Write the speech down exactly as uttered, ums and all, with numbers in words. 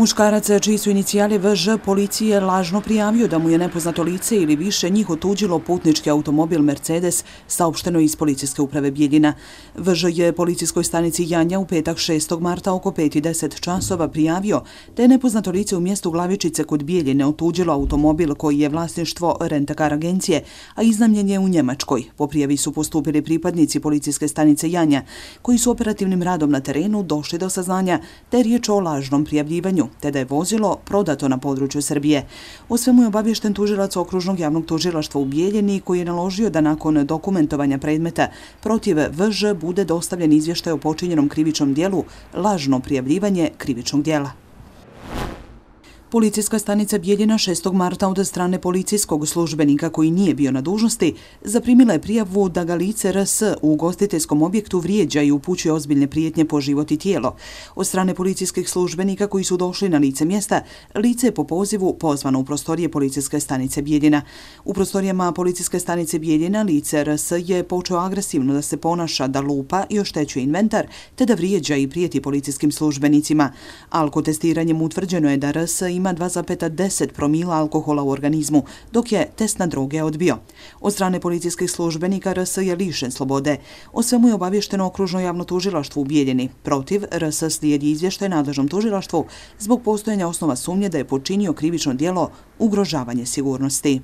Muškarac čiji su inicijali V Ž policije lažno prijavio da mu je nepoznato lice ili više njih otuđilo putnički automobil Mercedes, saopšteno iz policijske uprave Bijeljina. V Ž je policijskoj stanici Janja u petak šestog marta oko pet i deset časova prijavio da je nepoznato lice u mjestu Glavičice kod Bijeljine otuđilo automobil koji je vlasništvo rentakar agencije, a iznajmljen je u Njemačkoj. Po prijavi su postupili pripadnici policijske stanice Janja, koji su operativnim radom na terenu došli do saznanja da je riječ o lažnom prijavljivanju, te da je vozilo prodato na području Srbije. O svemu je obaviješten tužilac Okružnog javnog tužilaštva u Bijeljini, koji je naložio da nakon dokumentovanja predmeta protiv V Ž bude dostavljen izvještaj o počinjenom krivičnom dijelu lažno prijavljivanje krivičnog dijela. Policijska stanica Bijeljina šestog marta od strane policijskog službenika koji nije bio na dužnosti zaprimila je prijavu da ga lice R S u ugostiteljskom objektu vrijeđa i upućuje ozbiljne prijetnje po život i tijelo. Od strane policijskih službenika koji su došli na lice mjesta, lice je po pozivu pozvano u prostorije policijske stanice Bijeljina. U prostorijama policijske stanice Bijeljina lice R S je počeo agresivno da se ponaša, da lupa i oštećuje inventar, te da vrijeđa i prijeti policijskim službenicima. Alkotestiranjem utvrđeno je da R S ima dva zarez deset promila alkohola u organizmu, dok je test na droge odbio. Od strane policijskih službenika R S je lišen slobode. O svemu je obavješteno Okružno javno tužilaštvo u Bijeljini. Protiv R S slijedi izvještaj nadležnom tužilaštvu zbog postojanja osnova sumnje da je počinio krivično djelo ugrožavanje sigurnosti.